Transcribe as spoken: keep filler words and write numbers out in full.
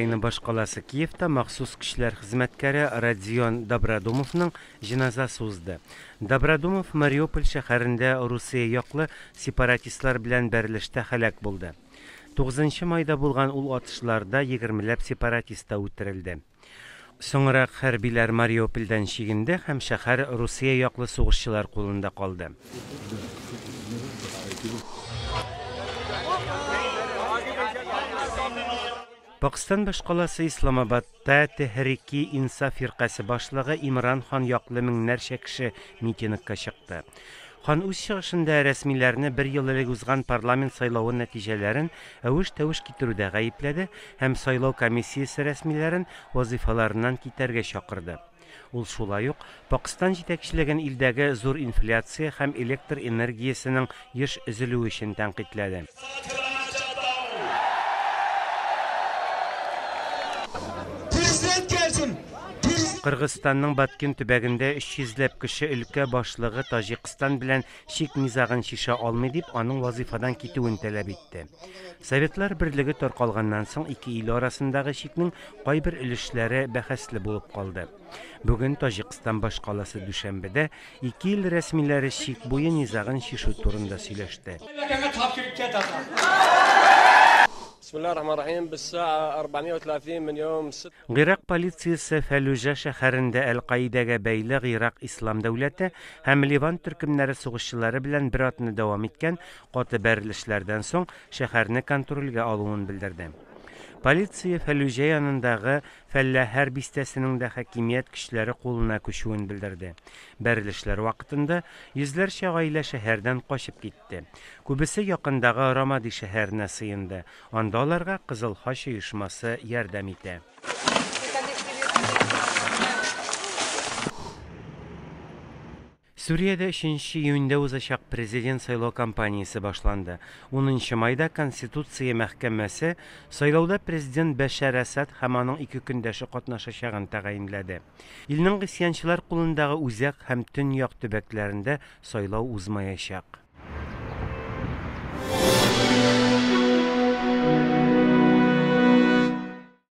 Украина башкаласы Киевта махсус көчләр хезмәткәре Родион Добродумовның җеназасы узды. Добродумов Мариуполь шәһәрендә Русия яклы сепаратистлар белән бәрелештә һәлак булды. тугызынчы майда булган ул атышларда егермеләп сепаратист та үтерелде. Соңрак хәрбиләр Мариупольдән чигенде һәм шәһәр Русия яклы сугышчылар кулында калды. Пакстан башкаласы Исламабадта Теһрики Инсаф фиркасе башлыгы Имран Хан яклы меңнәрчә кеше митингка чыкты. Хан үз чыгышында рәсмиләрне бер ел элек узган парламент сайлавы нәтиҗәләрен әвеш-тәвеш китерүдә гаепләде һәм сайлау комиссиясе рәсмиләрен вазифаларыннан китәргә чакырды. Ул шулай ук Пакстан җитәкчелеген илдәге зур инфляция һәм электр энергиясенең еш өзелүе өчен тәнкыйтьләде. Кыргызстанның Баткен төбәгендә өч йөзләп кеше өлкә башлыгы Таҗикстан белән чик низагын шиша алмый дип аның вазифадан китүен таләп итте. Советлар берлеге таркалганнан соң ике ил арасындагы чикнең кайбер өлешләре бәхәсле булып калды. Бүген Таҗикстан башкаласы Дүшәнбедә ике ил рәсмиләре чик буе низагын шишу турында сөйләште. Гыйрак полициясе Фәлүҗә шәһәрендә Әл-Каидәгә бәйле Гыйрак Ислам дәүләте һәм Ливан төркемнәре сугышчылары белән бер атна дәвам иткән каты бәрелешләрдән соң шәһәрне контрольгә алуын белдерде. Полиция Фәлүҗә янындагы Фәлләһәр бистәсенең дә хакимият көчләре кулына күчүен белдерде. Бәрелешләр вакытында йөзләрчә гаилә шәһәрдән качып китте. Күбесе якындагы Рамади шәһәренә сыенды. Анда аларга Кызыл Хач оешмасы ярдәм итә. Сүриядә өченче июньдә узачак президент сайлау кампаниясе башланды. Унынчы майда Конституция мәхкәмәсе сайлауда президент Бәшәр Әсәд һәм аның ике көндәше катнашачагын тәгаенләде. Илнең гыйсьянчылар кулындагы үзәк һәм төньяк төбәкләрендә сайлау узмаячак.